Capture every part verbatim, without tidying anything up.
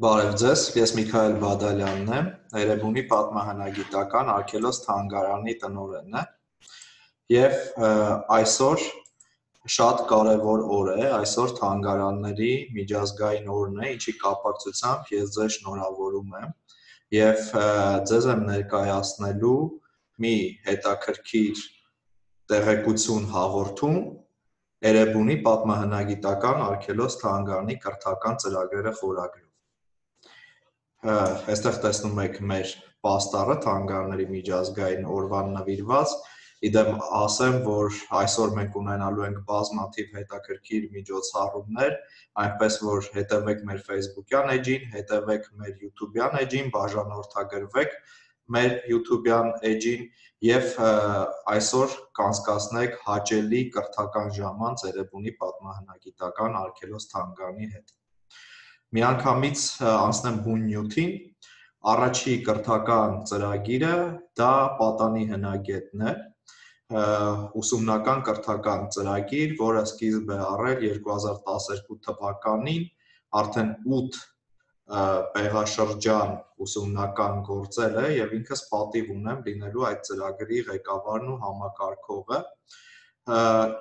Բարև ձեզ, ես Միքայել Բադալյանն եմ, Էրեբունի պատմահնագիտական արգելոց թանգարանի տնօրենն եմ և այսօր շատ կարևոր օր է, այսօր թանգարանների միջազգային օրն է, ինչի կապակցությամբ ես ձեզ շնորհավորում եմ և ձեզ եմ ներկայացնելու մի հետաքրքիր տեղեկություն հաղորդում Էրեբունի պատմահնագիտական արգելոց թանգարանի կրթական ծրագրերը խորագրով։ Այստեղ տեսնում եք մեր պաստառը թանգարանների միջազգային օրվան նվիրված, իդեմ ասեմ, որ այսօր մենք ունենալու ենք բազմաթիվ հետաքրքիր միջոցառումներ, այնպես որ հետևեք մեր Facebook-յան էջին, հետևեք մեր YouTube-յան էջին, բաժանորդագրվեք մեր YouTube-յան էջին և այսօր կանցկացնեք հաճելի կրթական ժամանց Էրեբունի պատմահնագիտական արգելոց թանգարանի հետ։ Միանգամից անցնեմ բուն նյութին, առաջի կրթական ծրագիրը դա պատանի հնագետն է, ուսումնական կրթական ծրագիր, որը սկիզբ է առել երկու հազար տասներկու թվականին, արդեն ութ պեղաշրջան ուսումնական գործել է և ինքս պատիվ ունեմ լինելու այդ ծրագրի ղեկավարն ու համակարգողը,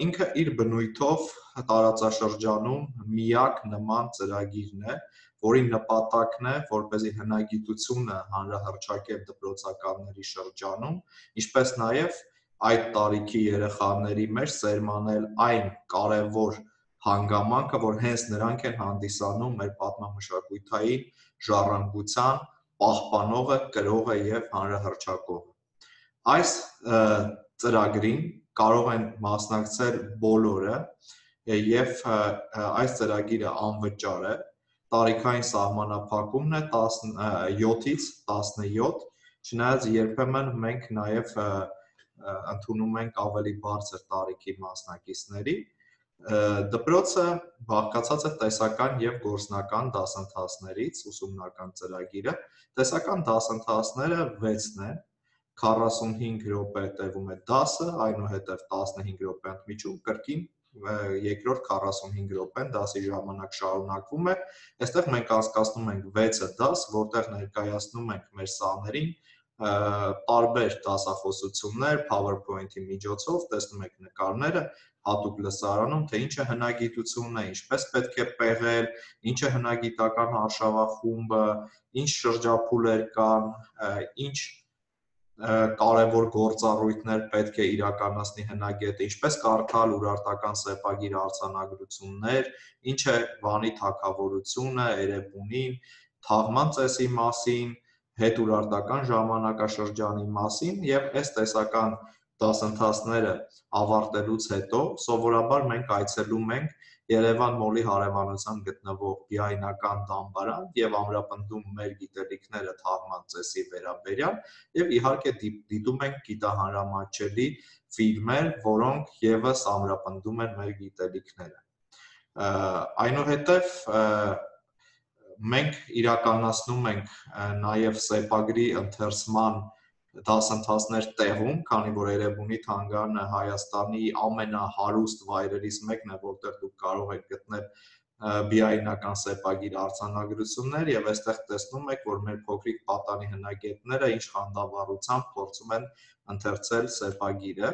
ինքը իր բնույթով տարածաշրջանում միակ նման ծրագիրն է, որի նպատակն է, որպեսզի հնագիտությունը հանրահռչակել դպրոցականների շրջանում, ինչպես նաև այդ տարիքի երեխաների մեջ սերմանել այն կարևոր հանգամանքը, որ հենց նրանք են հանդիսանում մեր պատմամշակութային ժառանգության պահպանողը, կրողը և հանրահռչակողը։ Այս ծրագրին կարող են մասնակցել բոլորը և այս ծրագիրը անվճար է, տարիքային սահմանափակումն է յոթից տասնյոթ, չնայած երբեմն մենք նաև ընդունում ենք ավելի բարձր տարիքի մասնակիցների, դպրոցը բաղկացած է տեսական և գործնական դասընթացներից, ուսումնական ծրագիրը, տեսական դասընթացները վեցն են, քառասունհինգ րոպե տևում է դասը, այնուհետև տասնհինգ րոպե ընդմիջում, կրկին երկրորդ քառասունհինգ րոպեն դասի ժամանակ շարունակվում է, այստեղ մենք անցկացնում ենք վեցը դաս, որտեղ ներկայացնում ենք մեր սաներին տարբեր դասախոսություններ, PowerPoint-ի միջոցով, տեսնում եք նկարները, հատուկ լսարանում, թե ինչ է հնագիտությունն է, ինչպես պետք է պեղել, ինչ է հնագիտական արշավախումբը, ինչ շրջափուլեր կան, ինչ կարևոր գործառույթներ պետք է իրականացնի հնագետը, ինչպես կարդալ ուրարտական սեպագիր արձանագրություններ, ինչ է Վանի թագավորությունը, Էրեբունին, թաղման ծեսի մասին, հետուրարտական ժամանակաշրջանի մասին և այս տեսական դասընթացները ավարտելուց հետո սովորաբար մենք այցելում ենք Երևան մոլի հարևանությամբ գտնվող Բիայնական դամբարան և ամրապնդում մեր գիտելիքները թաղման ծեսի վերաբերյալ և իհարկե դիտում ենք գիտահանրամատչելի ֆիլմեր, որոնք ևս ամրապնդում են մեր գիտելիքները։ Այնուհետև մենք իրականացնում ենք նաև սեպագրի ընթերցման դասընթացներ տեղում, քանի որ Էրեբունի թանգարանը Հայաստանի ամենահարուստ վայրերից մեկն է, որտեղ դուք կարող եք գտնել բիայնական սեպագիր արձանագրություններ և այստեղ տեսնում եք, որ մեր փոքրիկ պատանի հնագետները ինչ խանդավառությամբ փորձում են ընթերցել սեպագիրը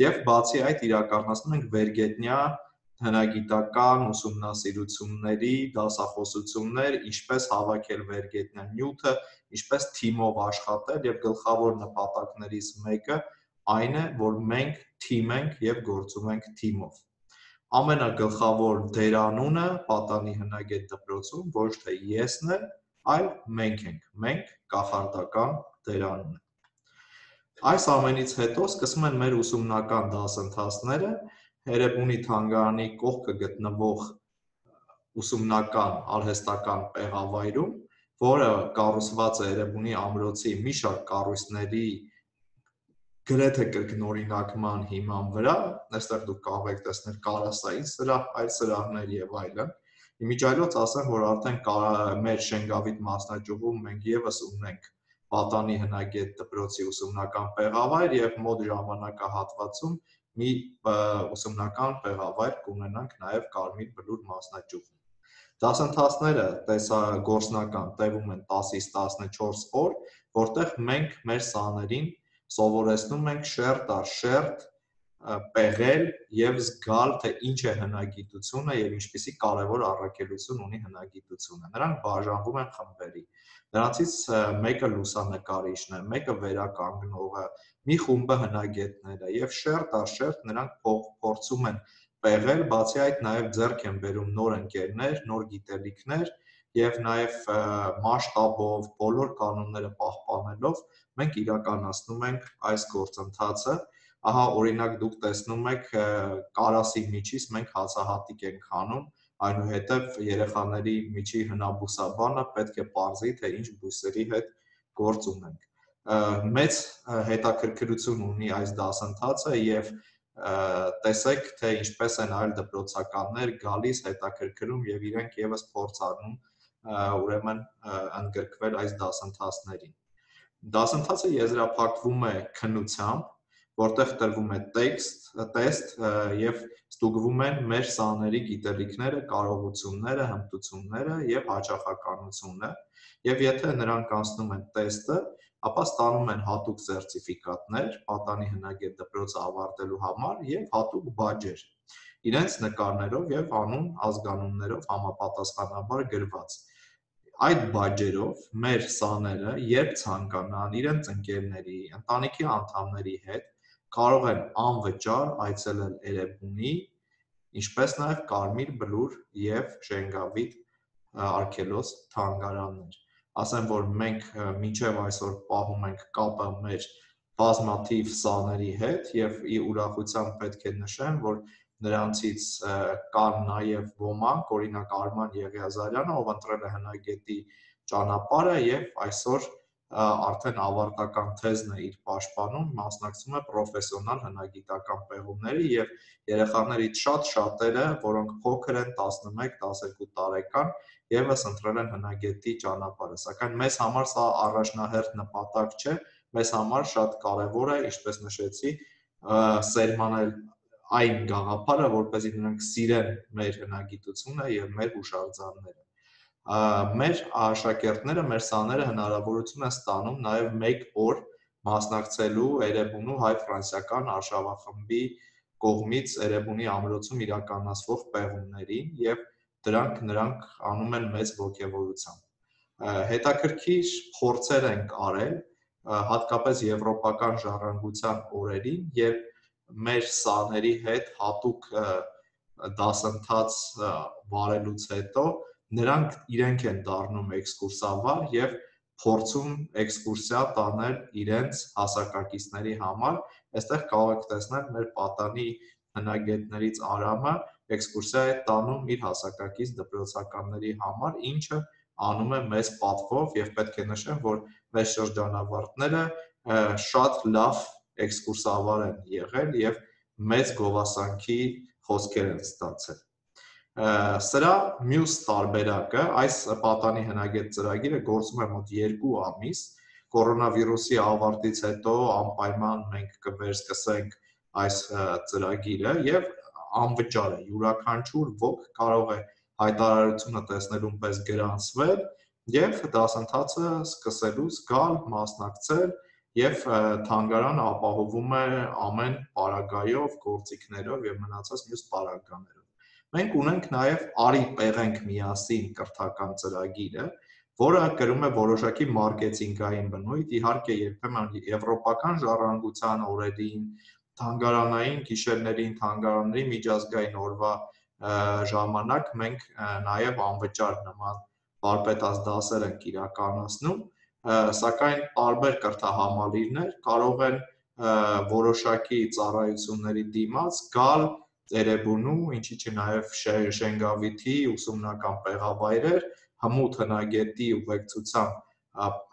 և բացի այդ իրականացնում ենք վերգետնյա հնագիտական ուսումնասիրությունների դասախոսություններ, ինչպես հավաքել վերգետնյա նյութը, ինչպես թիմով աշխատել և գլխավոր նպատակներից մեկը այն է, որ մենք թիմ ենք և գործում ենք թիմով։ Ամենագլխավոր դերանունը պատանի հնագետ դպրոցում ոչ թե եսն է, այլ մենք ենք, մենք կախարդական դերանունը։ Այս ամենից հետո սկսում են մեր ուսումնական դասընթացները Էրեբունի թանգարանի կողքը գտնվող ուսումնական արհեստական պեղավայրում, որը կառուցված է Էրեբունի ամրոցի մի շարք կառույցների գրեթե կրկնօրինակման հիման վրա, այստեղ դուք կարող եք տեսնել կարասային սրահ, այլ սրահներ և այլն, իմիջիայլոց ասեմ, որ արդեն մեր Շենգավիթ մասնաճյուղում մենք ևս ունենք պատանի հնագետ դպրոցի ուսումնական պեղավայր և մոտ ժամանակահատվածում մի ուսումնական պեղավայր կունենանք նաև Կարմիր Բլուր մասնաճյուղում։ Դասընթացները տեսագործնական տևում են տասից տասնչորս օր, որտեղ մենք մեր սաներին սովորեցնում ենք շերտ առ շերտ պեղել եւ զգալ, թե ինչ է հնագիտությունը եւ ինչպիսի կարեւոր առաքելություն ունի հնագիտությունը։ Նրանք բաժանվում են խմբերի։ Նրանցից մեկը լուսանկարիչն է, մեկը վերականգնողը, մի խումբը հնագետները եւ շերտ առ շերտ նրանք փորձում են պեղել, բացի այդ նաեւ ձեռք են բերում նոր ընկերներ, նոր գիտելիքներ եւ նաեւ մասշտաբով բոլոր կանոնները պահպանելով մենք իրականացնում ենք այս գործընթացը։ Ահա օրինակ դուք տեսնում եք կարասի միջից մենք հացահատիկ ենք անում, այնուհետև երեխաների միջի հնաբուսաբանը պետք է պարզի, թե ինչ բույսերի հետ գործ ունենք։ Մեծ հետաքրքրություն ունի այս դասընթացը եւ տեսեք, թե ինչպես են այլ դպրոցականներ գալիս, հետաքրքրում եւ իրենք եւս փորձ առնում ուրեմն ընդգրկվել այս դասընթացներին։ Դասընթացը եզրափակվում է քննությամբ, որտեղ տրվում է տեքստ, տեստ եւ ստուգվում են մեր սաների գիտելիքները, կարողությունները, հմտությունները եւ հաճախականությունը, եւ եթե նրանք անցնում են տեստը, ապա ստանում են հատուկ սերտիֆիկատներ պատանի հնագետ դպրոցը ավարտելու համար եւ հատուկ բաջեր, իրենց նկարներով եւ անուն, ազգանուններով համապատասխանաբար գրված։ Այդ բաջերով մեր սաները, երբ ցանկանան իրենց ընկերների, ընտանիքի անդամների հետ, կարող են անվճար այցելել Էրեբունի, ինչպես նաև Կարմիր Բլուր եւ Շենգավիթ արգելոց թանգարաններ։ Ասեմ, որ մենք մինչև այսօր պահում ենք կապը մեր բազմաթիվ սաների հետ եւ ի ուրախությամբ պետք է նշեմ, որ նրանցից կան նաև ոմանք, օրինակ Արման Եղիազարյանը, ով ընտրել է հնագետի ճանապարհը եւ այսօր արդեն ավարտական թեզն է իր պաշտպանում, մասնակցում է պրոֆեսիոնալ հնագիտական պեղումների եւ երեխաներից շատ շատերը, որոնք փոքր են տասնմեկ տասներկու տարեկան, եւս ընտրել են հնագետի ճանապարհը, սակայն մեզ համար սա առաջնահերթ նպատակ չէ, մեզ համար շատ կարեւոր է, ինչպես նշեցի, սերմանել այն գաղափարը, որպեսզի նրանք սիրեն մեր հնագիտությունը եւ մեր հուշարձանները։ Մեր աշակերտները, մեր սաները հնարավորություն են ստանում նաև մեկ օր մասնակցելու Էրեբունու հայ-ֆրանսիական արշավախմբի կողմից Էրեբունի ամրոցում իրականացվող պեղումներին եւ դրանք նրանք անում են մեծ ոգևորությամբ։ Հետաքրքիր փորձեր ենք արել, հատկապես եվրոպական ժառանգության օրերին, երբ մեր սաների հետ հատուկ դասընթաց վարելուց հետո նրանք իրենք են դառնում էքսկուրսավար եւ փորձում էքսկուրսիա տանել իրենց հասակակիցների համար։ Այստեղ կարող եք տեսնել մեր պատանի հնագետներից Արամը էքսկուրսիա է տանում իր հասակակից դպրոցականների համար, ինչը անում է մեծ պատվով եւ պետք է նշեմ, որ մեր շրջանավարտները շատ լավ էքսկուրսավար են եղել եւ մեծ գովասանքի խոսքեր են ստացել։ Սրա մյուս տարբերակը, այս պատանի հնագետ ծրագիրը գործում է մոտ երկու ամիս, կորոնավիրուսի ավարտից հետո անպայման մենք կվերսկսենք այս ծրագիրը եւ անվճար է, յուրաքանչյուր ոք կարող է հայտարարությունը տեսնելուն պես գրանցվել եւ դասընթացը սկսելուց գալ, մասնակցել եւ թանգարանը ապահովում է ամեն պարագայով, գործիքներով եւ մնացած մյուս պարագաներով։ Մենք ունենք նաև «Արի պեղենք միասին» կրթական ծրագիրը, որը կրում է որոշակի մարքեթինգային բնույթ, իհարկե երբեմն եվրոպական ժառանգության օրերին, թանգարանային գիշերներին, թանգարանների միջազգային օրվա ժամանակ մենք նաև անվճար նման վարպետաց դասեր ենք իրականացնում, սակայն տարբեր կրթահամալիրներ կարող են որոշակի ծառայությունների դիմաց գալ Էրեբունու, ինչի չէ նաև Շենգավիթի ուսումնական պեղավայրեր, հմուտ հնագետի ուղեկցությամբ,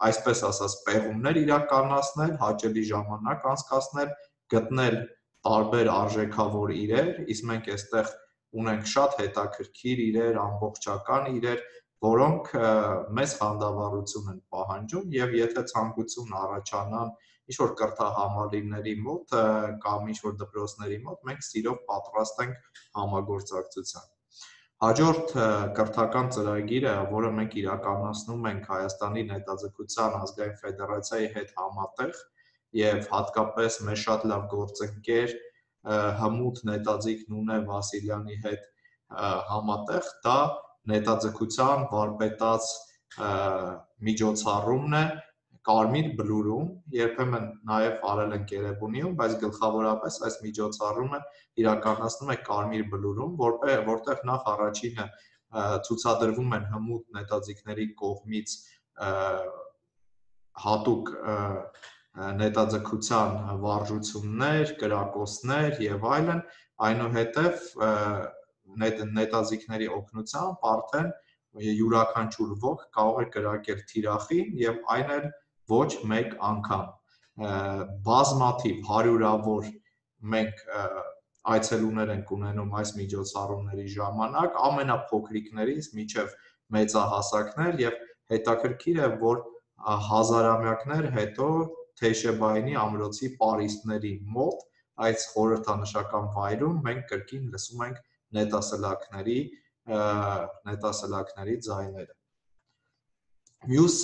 այսպես ասած, պեղումներ իրականացնել, հաճելի ժամանակ անցկացնել, գտնել տարբեր արժեքավոր իրեր, իսկ մենք այստեղ ունենք շատ հետաքրքիր իրեր, ամբողջական իրեր, որոնք մեծ խանդավառություն են պահանջում եւ եթե ցանկություն առաջանան ինչ-որ կրթահամալիրների մոտ կամ ինչ-որ դպրոցների մոտ, մենք սիրով պատրաստ ենք համագործակցության։ Հաջորդ կրթական ծրագիրը, որը մենք իրականացնում ենք Հայաստանի Նետաձգության ազգային ֆեդերացիայի հետ համատեղ եւ հատկապես մեր շատ լավ գործընկեր Հմուտ Նետաձիգ Նունե Վասիլյանի հետ համատեղ, դա նետաձգության վարպետաց միջոցառումն է Կարմիր Բլուրում, երբեմն նաև արել ենք Երևանիում, բայց գլխավորապես այս միջոցառումը իրականացնում է Կարմիր Բլուրում, որտեղ նախ առաջինը ցուցադրվում են հմուտ նետաձիգների կողմից հատուկ նետաձգության վարժություններ, կրակոցներ եւ այլն, այնուհետև նետաձիգների օգնությամբ արդեն յուրաքանչյուր ոք կարող է կրակել թիրախին եւ այն էլ ոչ մեկ անգամ բազմաթիվ հարյուրավոր մենք այցելուներ ենք ունենում այս միջոցառումների ժամանակ ամենափոքրիկներից մինչև մեծահասակներ եւ հետաքրքիր է որ հազարամյակներ հետո Թեյշեբաինի ամրոցի պարիսպների մոտ այս խորհրդանշական վայրում մենք կրկին լսում ենք նետասլաքների նետասլաքների ձայները Մյուս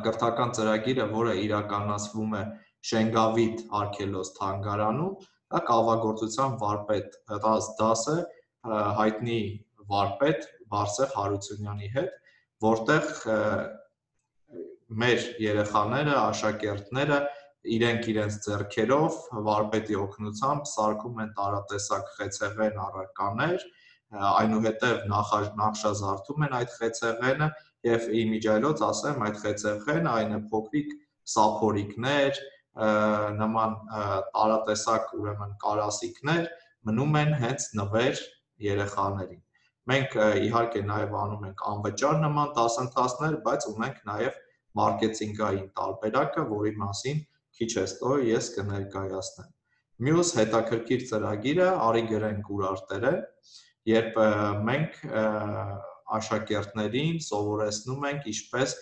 կրթական ծրագիրը, որը իրականացվում է Շենգավիթ արգելոց թանգարանում, դա կավագործության վարպետ դաս է հայտնի վարպետ Բարսեղ Հարությունյանի հետ, որտեղ մեր երեխաները, աշակերտները իրենք իրենց ձեռքերով վարպետի օգնությամբ սարքում են տարատեսակ խեցեղեն առարկաներ, այնուհետև նախշազարդում են այդ խեցեղենը եւ իմիջիայլոց ասեմ այդ խեցեղենը այն է փոքրիկ սափորիկներ, նման տարատեսակ ուրեմն կարասիքներ մնում են հենց նվեր երեխաներին։ Մենք իհարկե նաև անում ենք անվճար նման դասընթացներ, բայց ունենք նաև մարքեթինգային տարբերակը, որի մասին քիչ հետո ես կներկայացնեմ։ Մյուս հետաքրքիր ծրագիրը արի գրենք ուրարտերը, երբ մենք աշակերտներին սովորեցնում ենք ինչպես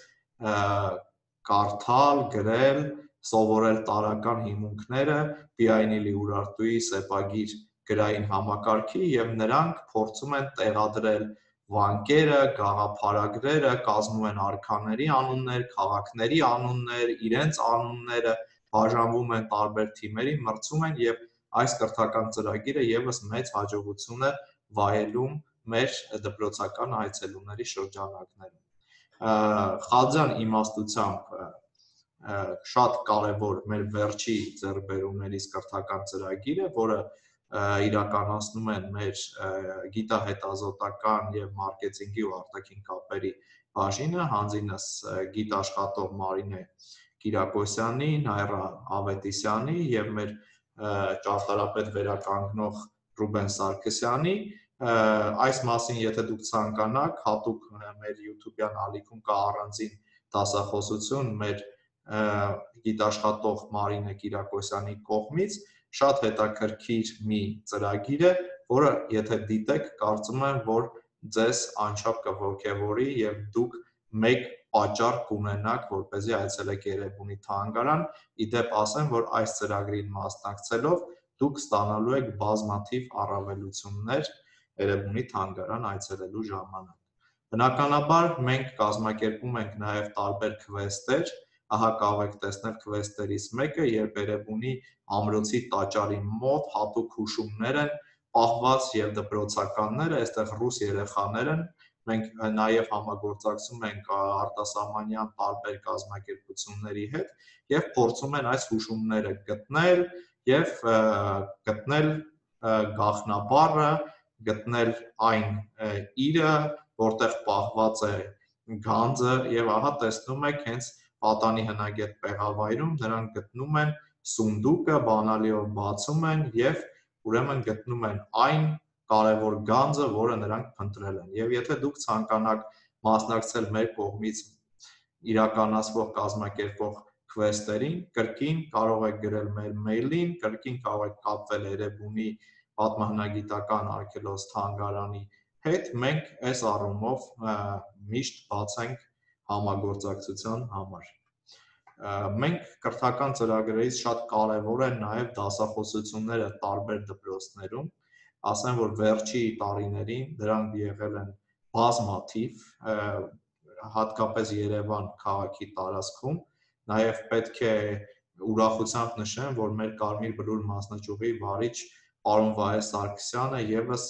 կարդալ, գրել, սովորել տարրական հիմունքները Բիայնիլի Ուրարտուի սեպագիր գրային համակարգի եւ նրանք փորձում են տեղադրել վանկերը, գաղափարագրերը, կազմում են արքաների անուններ, քաղաքների անուններ, իրենց անունները, բաժանվում են տարբեր թիմերի, մրցում են եւ այս կրթական ծրագիրը եւս մեծ հաջողություն է վայելում մեր դպրոցական այցելուների շրջանակներում։ Խաձյան իմաստությամբ շատ կարևոր մեր վերջի ձեռքբերումներից կրթական ծրագիրը, որը իրականացնում են մեր գիտահետազոտական եւ մարքեթինգի ու արտաքին կապերի բաժինը, հանձինս գիտաշխատող Մարինե Կիրակոսյանի, Նայրա Ավետիսյանի եւ մեր ճարտարապետ վերականգնող Ռուբեն Սարգսյանի այս մասին եթե դուք ցանկանաք հատուկ մեր YouTube-յան ալիքում կա առանձին դասախոսություն մեր գիտաշխատող Մարինե Կիրակոսյանի կողմից շատ հետաքրքիր մի ծրագիր է, որը եթե դիտեք, կարծում եմ, որ ձեզ անչափ կողքեվորի եւ դուք մեկ պատճառ կունենաք, որպեսզի այցելեք Երևանի թանգարան, իդեպ ասեմ, որ այս ծրագրին մասնակցելով դուք ստանալու եք բազմաթիվ առավելություններ Երևանի թանգարան այցելելու ժամանակ։ Բնականաբար մենք կազմակերպում ենք նաև տարբեր քվեսթեր, ահա կարող եք տեսնել քվեսթերից մեկը, երբ Երևանի ամրոցի տաճարի մոտ հատուկ հուշումներ են պահված եւ դպրոցականները, այստեղ ռուս երեխաներ են, մենք նաև համագործակցում ենք արտասահմանյան տարբեր կազմակերպությունների հետ եւ փորձում են այս հուշումները գտնել եւ գտնել գաղտնաբառը, գտնել այն իրը, որտեղ պահված է գանձը եւ ահա տեսնում եք հենց պատանի հնագետ պեղավայրում նրանք գտնում են սունդուկը, բանալիով բացում են եւ ուրեմն գտնում են այն կարևոր գանձը, որը նրանք փնտրել են։ Եվ եթե դուք ցանկանաք մասնակցել մեր կողմից իրականացվող կազմակերպող քվեսթերին, կրկին կարող եք գրել մեր մեյլին, կրկին կարող եք կապվել Երևանի պատմահնագիտական արգելոց թանգարանի հետ, մենք այս առումով միշտ բաց ենք համագործակցության համար։ Մենք կրթական ծրագրերից շատ կարևոր են նաև դասախոսությունները տարբեր դպրոցներում, ասեմ, որ վերջի տարիներին դրանք եղել են բազմաթիվ, հատկապես Երևան քաղաքի տարածքում, նաև պետք է ուրախությամբ նշեմ, որ մեր Կարմիր Բլուր մասնաճյուղի վարիչ պարոն Վահե Սարգսյանը ևս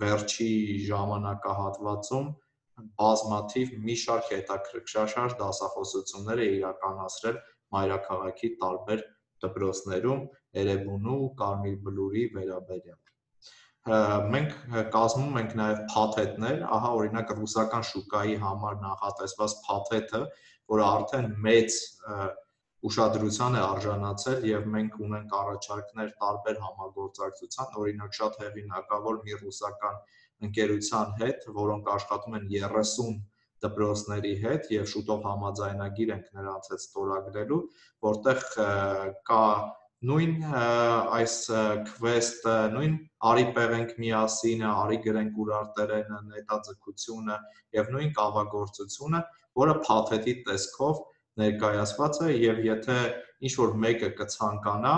վերջի ժամանակահատվածում բազմաթիվ մի շարք հետաքրքրաշարժ դասախոսություններ է իրականացրել մայրաքաղաքի տարբեր դպրոցներում Էրեբունու ու Կարմիր Բլուրի վերաբերյալ։ Մենք կազմում ենք նաև փաթեթներ, ահա օրինակ ռուսական շուկայի համար նախատեսված փաթեթը, որը արդեն մեծ ուշադրության է արժանացել եւ մենք ունենք առաջարկներ տարբեր համագործակցության, օրինակ շատ հեղինակավոր մի ռուսական ընկերության հետ, որոնք աշխատում են երեսուն դպրոցների հետ եւ շուտով համաձայնագիր ենք նրանց հետ ստորագրելու, որտեղ կա նույն այս քվեսթը, նույն արի պեղենք միասին, արի գրենք ուրարտերենը, նետաձգությունը եւ նույն կավագործությունը, որը փաթեթի տեսքով ներկայացված է եւ եթե ինչ-որ մեկը կցանկանա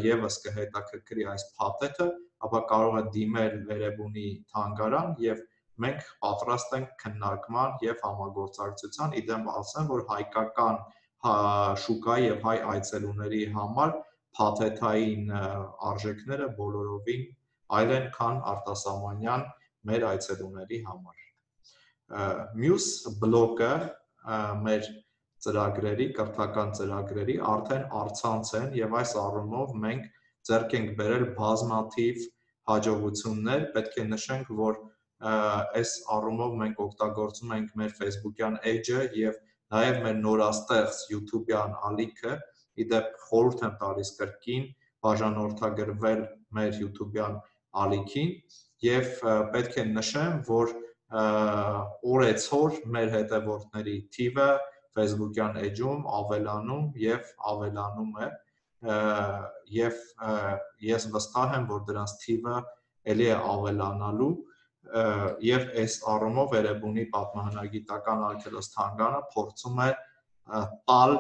եւս կհետաքրքրի այս փաթեթը, ապա կարող է դիմել Էրեբունի թանգարան եւ մենք պատրաստ ենք քննարկման եւ համագործակցության, իդեմ ասեմ, որ հայկական շուկայի եւ հայ այցելուների համար փաթեթային արժեքները բոլորովին այլ են, քան արտասահմանյան մեր այցելուների համար։ Մյուս բլոկը մեր ծրագրերի, կրթական ծրագրերի արդեն առցանց են եւ այս առումով մենք ձեռք ենք բերել բազմաթիվ հաջողություններ, պետք է նշենք, որ այս առումով մենք օգտագործում ենք մեր Facebook-յան էջը եւ նաեւ մեր նորաստեղծ YouTube-յան ալիքը, իդեպ խորհուրդ եմ տալիս կրկին բաժանորդագրվել մեր YouTube-յան ալիքին եւ պետք է նշեմ, որ օրեցօր մեր հետևորդների թիվը Facebook-յան էջում ավելանում եւ ավելանում է եւ ես վստահ եմ, որ դրանց թիվը ելի է ավելանալու եւ այս առումով Էրեբունի պատմահնագիտական արգելոց-թանգարանը փորձում է տալ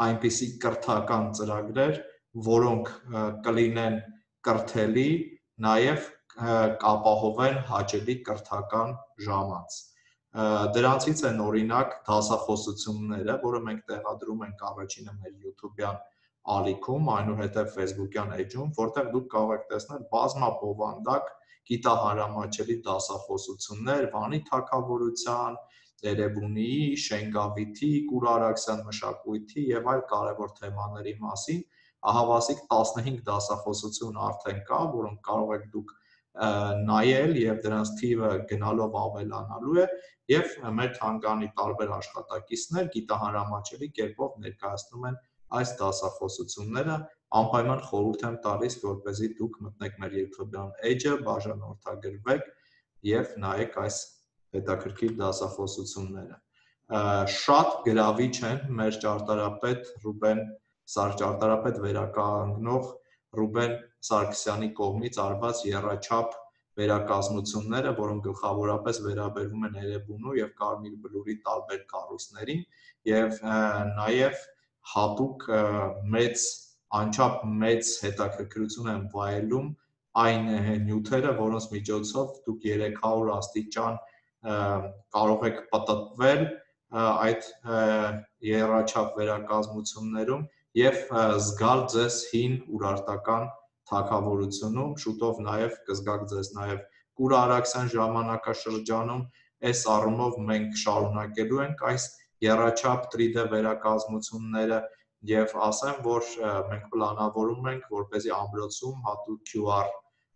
այնպիսի կրթական ծրագրեր, որոնք կլինեն կրթելի, նաև կապահովեն հաճելի կրթական ժամանց։ Դրանցից են օրինակ դասախոսությունները, որը մենք տեղադրում ենք առաջինը մեր YouTube-յան ալիքում, այնուհետև Facebook-յան էջում, որտեղ դուք կարող եք տեսնել բազմաբովանդակ գիտահարամատչելի դասախոսություններ Վանի թագավորության, Էրեբունիի, Շենգավիթի, Կուր Արաքսյան մշակույթի եւ այլ կարևոր թեմաների մասին, ահավասիկ տասնհինգ դասախոսություն արդեն կա, որոնք կարող եք դուք նայել եւ դրանց թիվը գնալով ավելանալու է եւ մեր թանգարանի տարբեր աշխատակիցներ գիտահարամատչելի կերպով ներկայացնում են այս դասախոսությունները, անպայման խորհուրդ եմ տալիս, որպեսզի դուք մտնեք մեր YouTube-յան էջը, բաժանորդագրվեք եւ նայեք այս հետաքրքիր դասախոսությունները։ Շատ գրավիչ են մեր ճարտարապետ Ռուբեն ճարտարապետ վերականգնող Ռուբեն Սարգսյանի կողմից արված եռաչափ վերակազմությունները, որոնք գլխավորապես վերաբերվում են Էրեբունու եւ Կարմիր Բլուրի տարբեր կառույցներին եւ նաեւ հատուկ մեծ անչափ մեծ հետաքրքրություն են վայելում այն նյութերը, որոնց միջոցով դուք երեք հարյուր աստիճան կարող եք պատտվել այդ եռաչափ վերակազմություններում եւ զգալ ձեզ հին urարտական թագավորությունում, շուտով նաեւ կզգաք ձեզ նաեւ Կուր Արաքսյան ժամանակաշրջանում, այս առումով մենք շարունակելու ենք այս եռաչափ տրի դե վերակազմությունները եւ ասեմ, որ մենք պլանավորում ենք, որպեսզի ամրոցում հատուկ Q R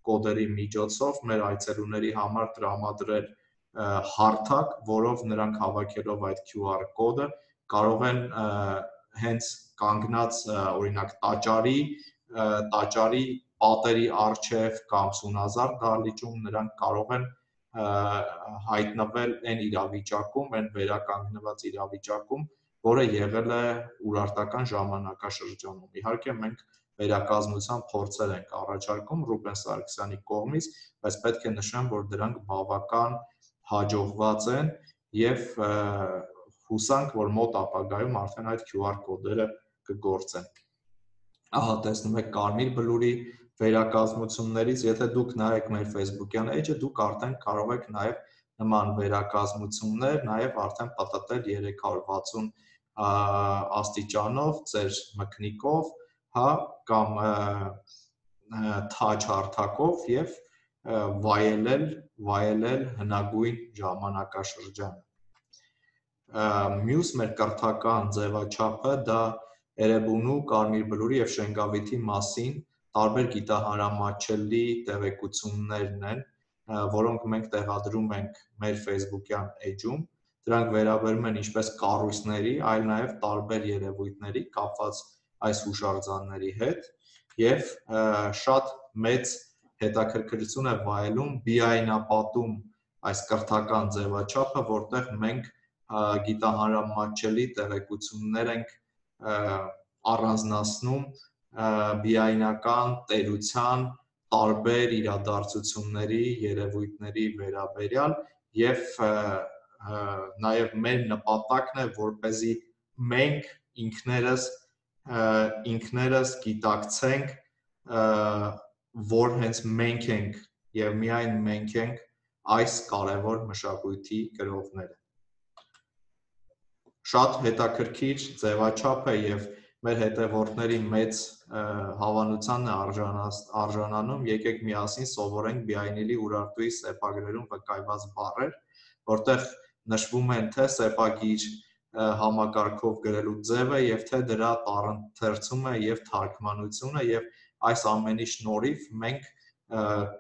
կոդերի միջոցով մեր այցելուների համար տրամադրել հարթակ, որով նրանք հավաքելով այդ Q R կոդը կարող են հենց կանգնած օրինակ տաճարի, տաճարի պատերի առջև կամ Սունազար դահլիճում նրանք կարող են հայտնվել այն իրավիճակում, այն վերականգնված իրավիճակում, որը եղել է urարտական ժամանակաշրջանում։ Իհարկե մենք վերակազմության փորձեր ենք առաջարկում Ռուբեն Սարգսյանի կողմից, բայց պետք է նշեմ, որ դրանք բավական հաջողված են եւ հուսանք, որ մոտ ապագայում արդեն այդ Q R կոդերը կգործեն։ Ահա տեսնում եք Կարմիր Բլուրի վերակազմություններից, եթե դուք նայեք մեր Facebook-յան էջը, դուք արդեն կարող եք նաև նման վերակազմություններ նաև արդեն պատտել երեք հարյուր վաթսուն աստիճանով, ձեր մկնիկով, հա, կամ թաչ հարթակով եւ վայելել, վայելել հնագույն ժամանակաշրջանը։ Մյուս մեր կրթական ձևաչափը դա Էրեբունու, Կարմիր բլուրի եւ Շենգավիթի մասին տարբեր գիտահանրամատչելի տեղեկություններն են, որոնք մենք տեղադրում ենք մեր Facebook-յան էջում, դրանք վերաբերում են ինչպես կառույցների, այլ նաև տարբեր երևույթների կապված այս հուշարձանների հետ եւ շատ մեծ հետաքրքրություն է վայելում բիայնապատում այս կրթական ձևաչափը, որտեղ մենք գիտահանրամատչելի տեղեկություններ ենք առանձնացնում բիայնական տերության տարբեր իրադարձությունների, երևույթների վերաբերյալ եւ նաեւ մեր նպատակն է, որպեսզի մենք ինքներս ինքներս գիտակցենք, որ հենց մենք ենք եւ միայն մենք ենք այս կարևոր մշակույթի կրողները։ Շատ հետաքրքիր ձևաչափ է եւ մեր հետևորդների մեծ հավանությանն է արժանանում, եկեք միասին սովորենք Բիայնիլի Ուրարտուի սեպագրերում վկայված բառեր, որտեղ նշվում են թե սեպագիր համակարգով գրելու ձևը եւ թե դրա տառընթերցումը եւ թարգմանությունը եւ այս ամենի շնորհիվ մենք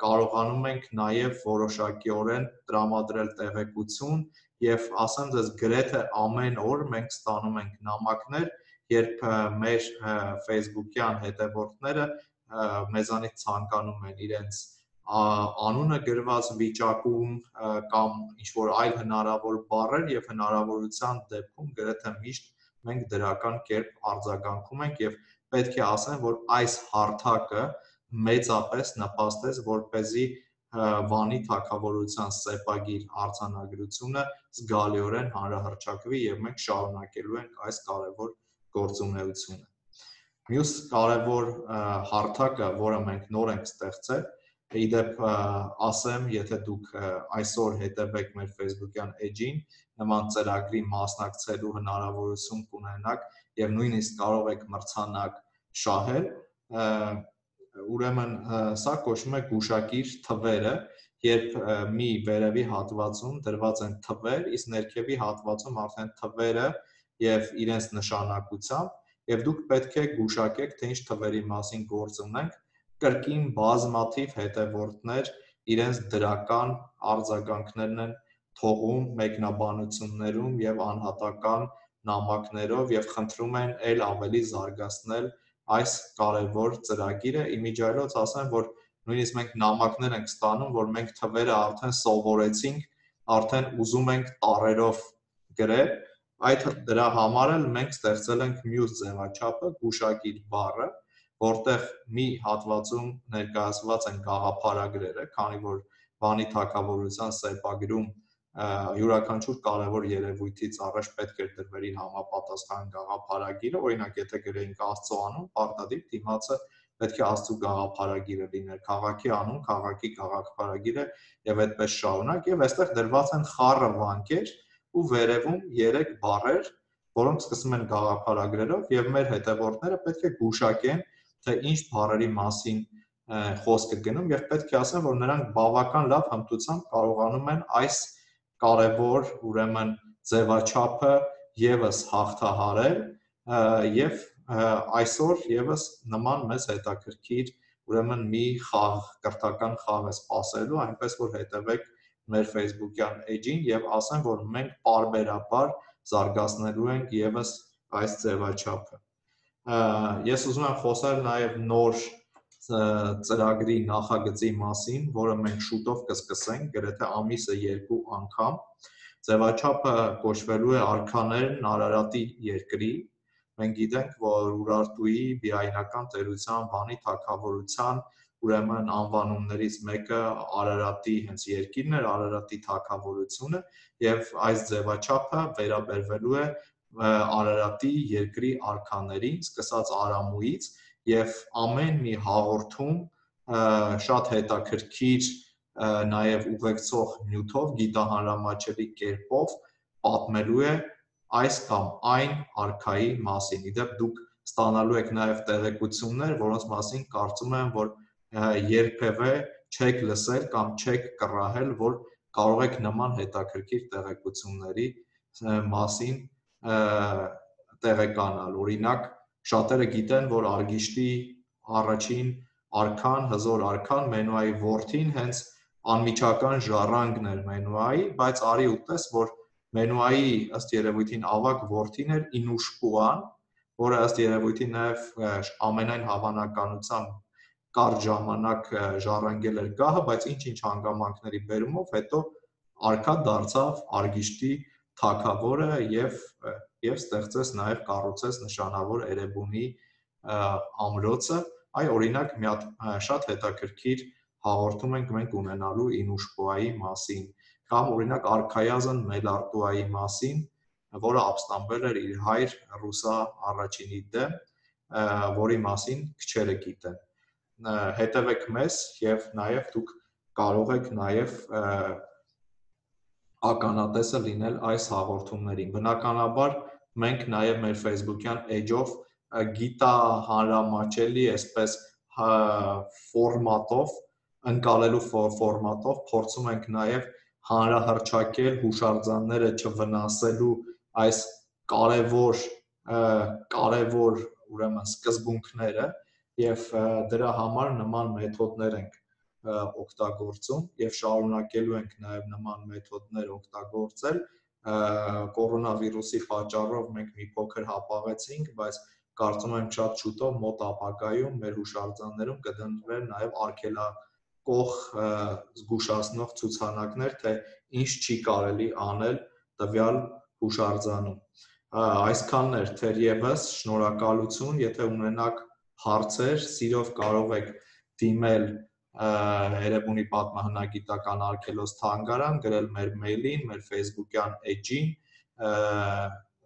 կարողանում ենք նաեւ որոշակիորեն տրամադրել տեղեկություն եւ ասեմ ձեզ գրեթե ամեն օր մենք ստանում ենք նամակներ, երբ մեր Facebook-յան հետևորդները մեզանից ցանկանում են իրենց անունը գրված վիճակում կամ ինչ-որ այլ հնարավոր բառեր եւ հնարավորության դեպքում գրեթե միշտ մենք դրական կերպ արձագանքում ենք եւ պետք է ասեմ, որ այս հարթակը մեծապես նպաստեց, որպեսզի Վանի թագավորության սեպագիր արձանագրությունը զգալիորեն հանրահռչակվի եւ մենք շարունակելու ենք այս կարևոր գործունեությունը։ Մյուս կարևոր հարթակը, որը մենք նոր ենք ստեղծել, իդեպ ասեմ, եթե դուք այսօր հետևեք մեր Facebook-յան էջին, նման ծրագրի մասնակցելու հնարավորություն կունենաք եւ նույնիսկ կարող եք մրցանակ շահել, ուրեմն սա կոչվում է գուշակիր թվերը, երբ մի վերևի հատվածում դրված են թվեր, իսկ ներքևի հատվածում արդեն թվերը եւ իրենց նշանակությամբ, եւ դուք պետք է գուշակեք, թե ինչ թվերի մասին գործ ունենք, կրկին բազմաթիվ հետևորդներ իրենց դրական արձագանքներն են թողում մեկնաբանություններում եւ անհատական նամակներով եւ խնդրում են ել ավելի զարգացնել այս կարևոր ծրագիրը, իմիջիայլոց ասեմ, որ նույնիսկ մենք նամակներ ենք ստանում, որ մենք թվերը արդեն սովորեցինք, արդեն ուզում ենք տառերով գրել, այդ դրա համար էլ մենք ստեղծել ենք մյուս ձևաչափը, գուշակիր բառը, որտեղ մի հատվածում ներկայացված են գաղափարագրերը, քանի որ Վանի թագավորության սեպագրում յուրաքանչյուր կարևոր երևույթից առաջ պետք է դրվեր իր համապատասխան գաղափարագիրը, օրինակ եթե գրեինք Աստծո անուն, պարտադիր դիմացը պետք է Աստծո գաղափարագիրը լիներ, քաղաքի անուն, քաղաքի գաղափարագիրը եւ այդպես շարունակ, եւ այստեղ դրված են խառը վանկեր ու վերևում երեք բառեր, որոնք սկսում են գաղափարագրերով եւ մեր հետևորդները պետք է գուշակեն, թե ինչ բառերի մասին խոսքը գնում եւ պետք է ասեմ, որ նրանք բավական լավ հմտությամբ կարողանում են այս կարևոր ուրեմն ձևաչափը եւս հաղթահարել եւ այսօր եւս նման մեծ հետաքրքիր ուրեմն մի խաղ, կրթական խաղ է սպասելու, այնպես որ հետևեք մեր Facebook-յան էջին եւ ասեմ, որ մենք պարբերաբար զարգացնելու ենք եւս այս ձևաչափը։ Ես ուզում եմ խոսել նաեւ նոր ծրագրի նախագծի մասին, որը մենք շուտով կսկսենք, գրեթե ամիսը երկու անգամ։ Ձևաչափը կոչվելու է Արքաներն Արարատի երկրի։ Մենք գիտենք, որ Ուրարտուի բիայնական տերության, Վանի թագավորության ուրեմն անվանումներից մեկը Արարատի հենց երկիրն էր, Արարատի թագավորությունը, եւ այս ձևաչափը վերաբերվելու է Արարատի երկրի արքաներին, սկսած Արամուից, եւ ամեն մի հաղորդում շատ հետաքրքիր նաև ուղեկցող նյութով, գիտահանրամատչելի կերպով պատմելու է այս կամ այն արքայի մասին։ Իդեպ դուք ստանալու եք նաև տեղեկություններ, որոնց մասին կարծում եմ, որ երբևէ չեք լսել կամ չեք կռահել, որ կարող եք նման հետաքրքիր տեղեկությունների մասին տեղեկանալ։ Օրինակ, շատերը գիտեն, որ Արգիշտի առաջին արքան, հզոր արքան Մենուայի որդին հենց անմիջական ժառանգն էր Մենուայի, բայց արի ու տես, որ Մենուայի ըստ երևույթին ավագ որդին էր Ինուշպուան, որը ըստ երևույթին նաև ամենայն հավանականությամբ կարճ ժամանակ ժառանգել էր գահը, բայց ինչ-ինչ հանգամանքների բերումով հետո արքա դարձավ Արգիշտի թագավորը եւ եւ ստեղծեց նաև կառուցեց նշանավոր Էրեբունի ամրոցը։ Այ օրինակ մի հատ շատ հետաքրքիր հաղորդում ենք մենք ունենալու Ինուշպուայի մասին, կամ օրինակ արքայազն Մելարտուայի մասին, որը ապստամբել էր իր հայր Ռուսա առաջինի դեմ, որի մասին քչերը գիտեն։ Հետևեք մեզ եւ նաեւ դուք կարող եք նաեւ ականատեսը լինել այս հաղորդումներին։ Բնականաբար մենք նաեւ մեր Facebook-յան էջով գիտահանրամատչելի այսպես ֆորմատով, ընկալելու ֆորմատով փորձում ենք նաեւ հանրահռչակել հուշարձանները չվնասելու այս կարևոր կարևոր ուրեմն սկզբունքները եւ դրա համար նման մեթոդներ ենք օգտագործում եւ շարունակելու ենք նաեւ նման մեթոդներ օգտագործել։ Կորոնավիրուսի պատճառով մենք մի փոքր հապաղեցինք, բայց կարծում եմ շատ շուտով մոտ ապագայում մեր հուշարձաններում կդնվեն նաեւ արգելակող զգուշացնող ցուցանակներ, թե ինչ չի կարելի անել տվյալ հուշարձանում։ Այսքանն էր թերևս, շնորհակալություն, եթե ունենաք հարցեր, սիրով կարող եք դիմել Էրեբունի պատմահնագիտական արգելոց թանգարան, գրել մեր մեյլին, մեր Facebook-յան էջին,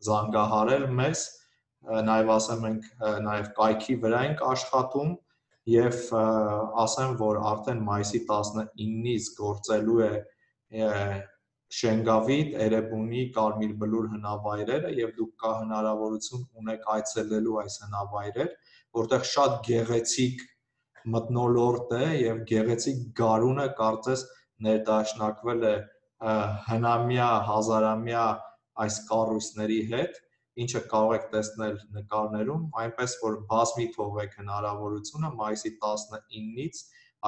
զանգահարել մեզ, նաև ասեմ ենք նաև կայքի վրա ենք աշխատում եւ ասեմ, որ արդեն մայիսի տասնինից գործելու է Շենգավիթ, Էրեբունի Կարմիր Բլուր հնավայրերը եւ դուք կա հնարավորություն ունեք այցելելու այս հնավայրեր, որտեղ շատ գեղեցիկ մթնոլորտ է եւ գեղեցիկ գարունը կարծես ներդաշնակվել է հնամյա, հազարամյա այս կառույցների հետ, ինչը կարող եք տեսնել նկարներում, այնպես որ բազմի թողեք հնարավորությունը մայիսի տասնինից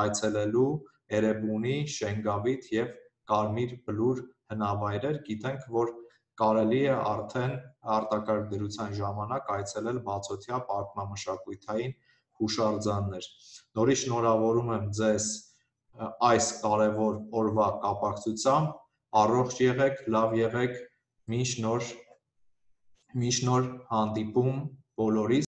այցելելու Էրեբունի, Շենգավիթ եւ Կարմիր Բլուր հնավայրեր, գիտենք, որ կարելի է արդեն արտակարգ դրության ժամանակ այցելել բացօթյա պատմամշակութային հուշարձաններ։ Նորից շնորհավորում եմ ձեզ այս կարևոր օրվա կապակցությամբ, առողջ եղեք, լավ եղեք, մինչ նոր մինչ նոր հանդիպում բոլորիս։